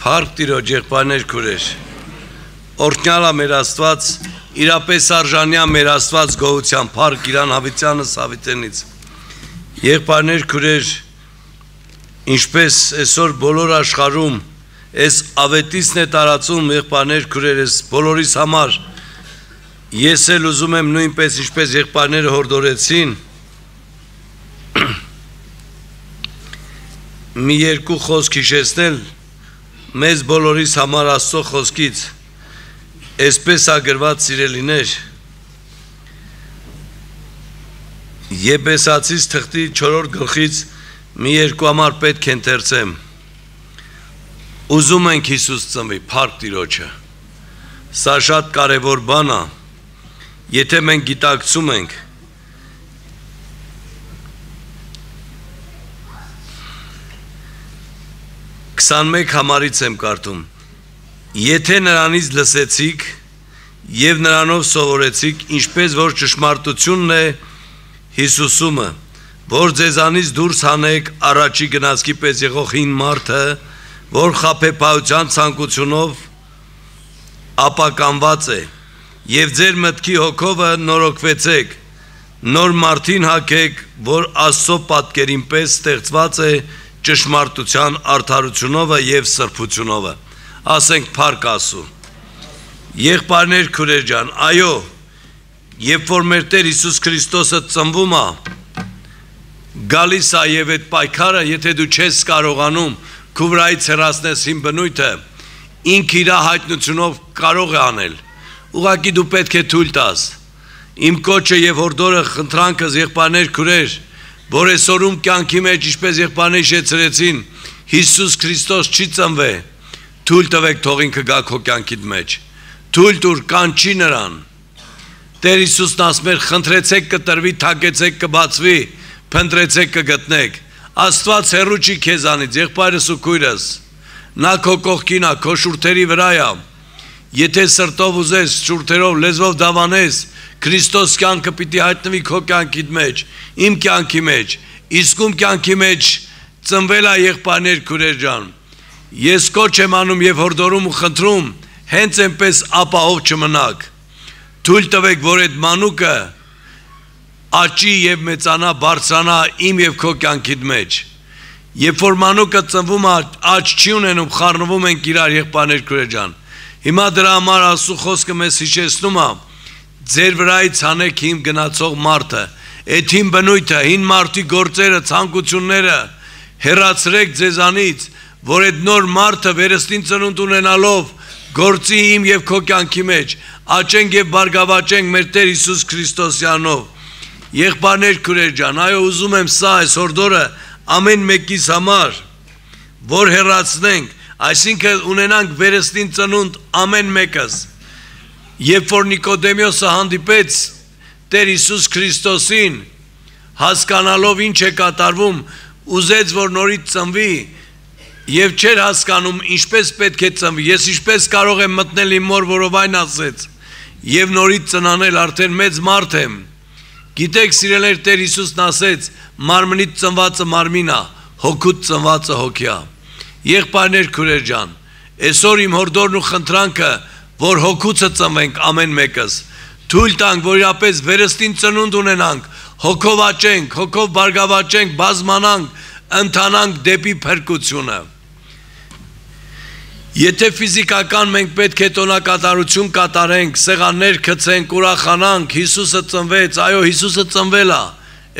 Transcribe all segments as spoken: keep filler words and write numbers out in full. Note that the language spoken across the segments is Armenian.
Փառք Տիրոջ, եղբայրներ, քուրեր, օրհնյալ է մեր Աստված, իրապես արժանի է մեր Աստված գոհության, փառք Իրան Հավիտյանս Հավիտենից։ Եղբայրներ, քուրեր, ինչպես այսօր բոլոր աշխարհում այս ավետիցն է տարածում, եղբայրներ, քուրեր, այս բոլորիս համար, ես էլ ուզում եմ նույնպես ինչպես եղբայրները հորդորեցին, մի երկու խոսք հիշեցնել մեզ բոլորիս համար Աստծո խոսքից, այսպես է գրված, սիրելիներ, Եփեսացիս թղթի չորրորդ գլխից մի երկու համար պետք է ընթերցեմ։ Ուզում ենք Հիսուս ծնվի, փառք Տիրոջը։ Սա շատ կարևոր բան է, եթե մենք գիտակցում ենք, քսանմեկ համարից եմ կարդում, եթե նրանից լսեցիք և նրանով սովորեցիք, ինչպես որ ճշմարտությունն է Հիսուսումը, որ ձեզանից դուրս հանեք առաջի գնացքի պես եղող հին մարդը, որ խաբեբայության ցանկությունով ապականված է, և ձեր մտքի հոգովը նորոգվեցեք, նոր մարդին հագեք, որ Աստծո պատկերին պես ստեղծված է ճշմարտության արդարությունովը և սրբությունովը, ասենք փառք Աստծու։ Եղբայրներ, քուրեր ջան, այո, երբ որ մեր Տեր Հիսուս Քրիստոսը ծնվում է, գալիս է եւ այդ պայքարը, եթե դու չես կարողանում քո վրայից հեռացնես հին բնույթը, ինքը իր հայտնությունով կարող է անել։ Ուղղակի դու պետք է թույլ տաս։ Իմ կոչը եւ հորդորը, խնդրանքս, եղբայրներ, քուրեր, որ այսօրում կյանքի մեջ, ինչպես եղբայրները հիշեցրեցին, Հիսուս Քրիստոս չի ծնվե, թույլ տվեք թող ինքը գա քո կյանքիդ մեջ, թույլ տուր, կանչի նրան։ Տեր Հիսուսն ասում էր, խնդրեցեք կտրվի, թակեցեք կբացվի, փնտրեցեք կգտնեք։ Աստված հեռու չի քեզանից, եղբայրս ու քույրս, նա քո կողքին է, քո շուրթերի վրա է։ Եթե սրտով ուզես, շուրթերով, լեզվով դավանես, Քրիստոս կյանքը պիտի հայտնվի քո կյանքիդ մեջ, իմ կյանքի մեջ, իսկում կյանքի մեջ ծնվել է եղբայրներ, քուրեր ջան։ Ես կոչ եմ անում եւ հորդորում ու խնդրում, հենց այնպես ապահով չմնաք։ Թույլ տվեք, որ այդ մանուկը աճի եւ մեծանա, բարձրանա իմ եւ քո կյանքիդ մեջ։ Երբ որ մանուկը ծնվում է, աճ չի ունենում, խառնվում ենք իրար, եղբայրներ, քուրեր ջան։ Հիմա դրա համար Աստծո խոսքը մեզ հիշեցնում է, ձեր վրայից հանեք հին գնացող մարդը, այդ հին բնույթը, հին մարդի գործերը, ցանկությունները հեռացրեք ձեզանից, որ այդ նոր մարդը վերստին ծնունդ ունենալով գործի իմ եւ քո կյանքի մեջ, աճենք եւ բարգավաճենք մեր Տեր Հիսուս Քրիստոսյանով։ Եղբայրներ, քուրեր ջան, այո, ուզում եմ սա այս հորդորը ամեն մեկիս համար, որ հեռացնենք, այսինքն ունենանք վերստին ծնունդ ամեն մեկս։ Երբ որ Նիկոդեմոսը հանդիպեց Տեր Հիսուս Քրիստոսին, հասկանալով ինչ է կատարվում, ուզեց, որ նորից ծնվի եւ չէր հասկանում ինչպես պետք է ծնվի։ Ես ինչպես կարող եմ մտնել իմ մոր որովայն ասեց եւ նորից ծնանել, արդեն մեծ մարդ եմ։ Գիտեք, սիրելիներ, Տեր Հիսուսն ասեց, մարմնից ծնվածը մարմին է, հոգուց ծնվածը հոգի է։ Եղբայրներ, քուրեր ջան, այսօր իմ հորդորն ու խնդրանքը, որ հոգուցը ծնվենք ամեն մեկս, թույլ տանք, որ իրապես վերստին ծնունդ ունենանք, հոգով աճենք, հոգով բարգավաճենք, բազմանանք, ընթանանք դեպի փրկությունը։ Եթե ֆիզիկական մենք պետք է տոնակատարություն կատարենք, սեղաններ գցենք, ուրախանանք, Հիսուսը ծնվեց, այո, Հիսուսը ծնվել է։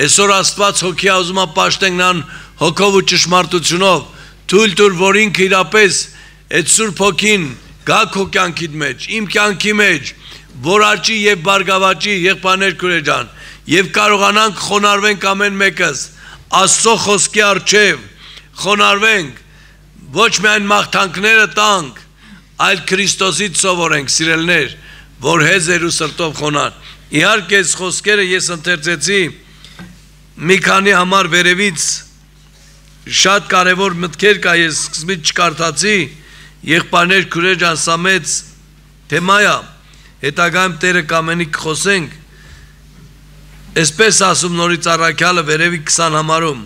Այսօր Աստված հոգի է ուզում է պաշտենք նրան հոգով ու ճշմարտությունով, թույլ տուր, որ ինքը իրապես այդ Սուրբ Հոգին գա քո կյանքիդ մեջ, իմ կյանքի մեջ, որ աճի եւ բարգավաճի, եղբայրներ, քուրեր ջան, եւ կարողանանք խոնարհվենք ամեն մեկս Աստծո խոսքի առջև, խոնարհվենք, ոչ միայն մաղթանքները տանք, այլ Քրիստոսից սովորենք, սիրելիներ, որ հեզեր ու սրտով խոնար։ Իհարկե, այս խոսքերը ես ընթերցեցի մի քանի համար վերևից, շատ կարևոր մտքեր կա, ես սկզբից չկարդացի, եղբայրներ, քուրեր ջան, սա մեծ թեմա է, հետագայում Տերը կամենի կխոսենք, այսպես ասում նորից առաքյալը վերևի քսան համարում,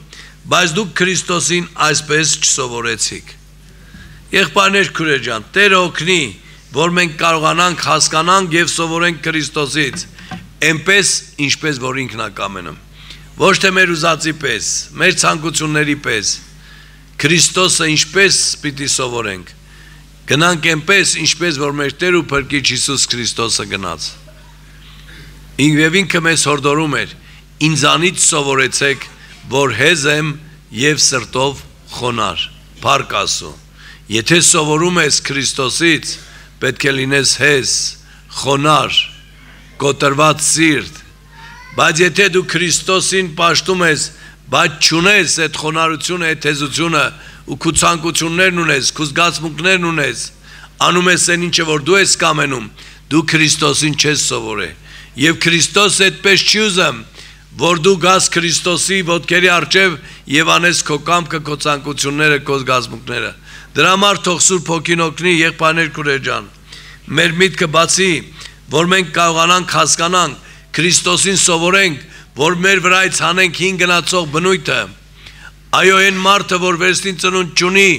բայց դուք Քրիստոսին այսպես չսովորեցիք։ Եղբայրներ քուրեր ջան, Տերը օգնի, որ մենք կարողանանք հասկանանք եւ սովորենք Քրիստոսից, այնպես ինչպես որ ինքն է կամենում։ Ոչ թե մեր ուզածի պես, մեր ցանկությունների պես, Քրիստոսը ինչպես պիտի սովորենք։ Գնանք այնպես, ինչպես որ մեր Տեր ու Փրկիչ Հիսուս Քրիստոսը գնաց։ Ինքն ինքը մեզ հորդորում էր. ինձանից սովորեցեք, որ հեզ եմ եւ սրտով խոնար։ Փառք Աստծո։ Եթե սովորում ես Քրիստոսից, պետք է լինես հեզ, խոնար, կոտրված սիրտ։ Բայց եթե դու Քրիստոսին պաշտում ես, բայց չունես այդ խոնարհությունը, այդ հեզությունը ու քո ցանկություններն ունես, քո զգացմունքներն ունես, անում ես այն ինչը որ դու ես կամենում, դու Քրիստոսին չես սովորել։ Եվ Քրիստոսը այդպես չի ուզում, որ դու գաս Քրիստոսի ոտքերի առջև եւ անես քո կամքը, քո ցանկությունները, քո զգացմունքները։ Դրա համար թող Սուրբ Հոգին օգնի եղբայրներ քուրեր ջան։ Մեր միտքը բացի, որ մենք կարողանանք հասկանանք, Քրիստոսին սովորենք, որ մեր վրայից հանենք հին գնացող բնույթը։ Այո, այն մարդը, որ վերստին ծնունդ չունի,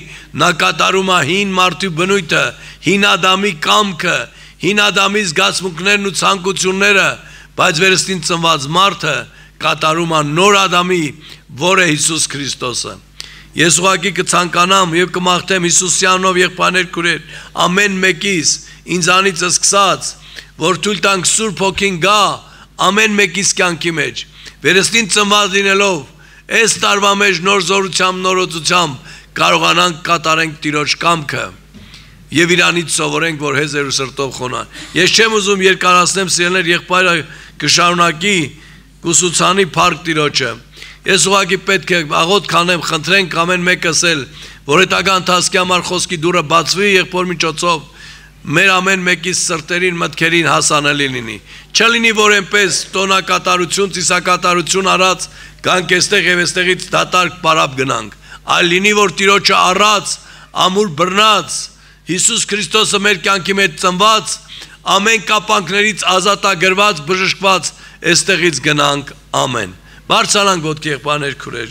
նա կատարում է հին մարդու բնույթը, հին Ադամի կամքը, հին Ադամի զգացմունքներն ու ցանկությունները, բայց վերստին ծնված մարդը կատարում է նոր Ադամի, որը Հիսուս Քրիստոսը։ Ես ուղղակի կցանկանամ եւ կմաղթեմ Հիսուսյանով եղբայրներ քուրեր, ամեն մեկիս ինձանից սկսած, որ թույլ տանք Սուրբ Հոգին գա ամեն մեկիս կյանքի մեջ, վերստին ծնված լինելով, այս տարվա մեջ նոր զորությամբ, նորոծությամբ կարողանանք կատարենք Տիրոջ կամքը եւ իրանից սովորենք, որ հեզ ու սրտով խոնար։ Ես չեմ ուզում երկարացնեմ, սիրելիներ, եղբայրը կշարունակի կուսուցանի փառք Տիրոջը։ Ես ուղղակի պետք է աղոթք անեմ, խնդրենք ամեն մեկս էլ, որ հետագա ընթացքի համար խոսքի դուռը բացվի եղբոր միջոցով, մեր ամեն մեկի սրտերին, մտքերին հասանելի լինի։ Չլինի, որ այնպես տոնակատարություն, ծիսակատարություն արած գանք այստեղ եւ այստեղից դատարկ պարապ գնանք, այլ լինի, որ Տիրոջը առած, ամուր բռնած, Հիսուս Քրիստոսը մեր կյանքի մեջ ծնված, ամեն կապանքներից ազատագրված, բժշկված, այստեղից գնանք, ամեն։ Բարձրանանք ոտքի եղբայրներ քուրեր։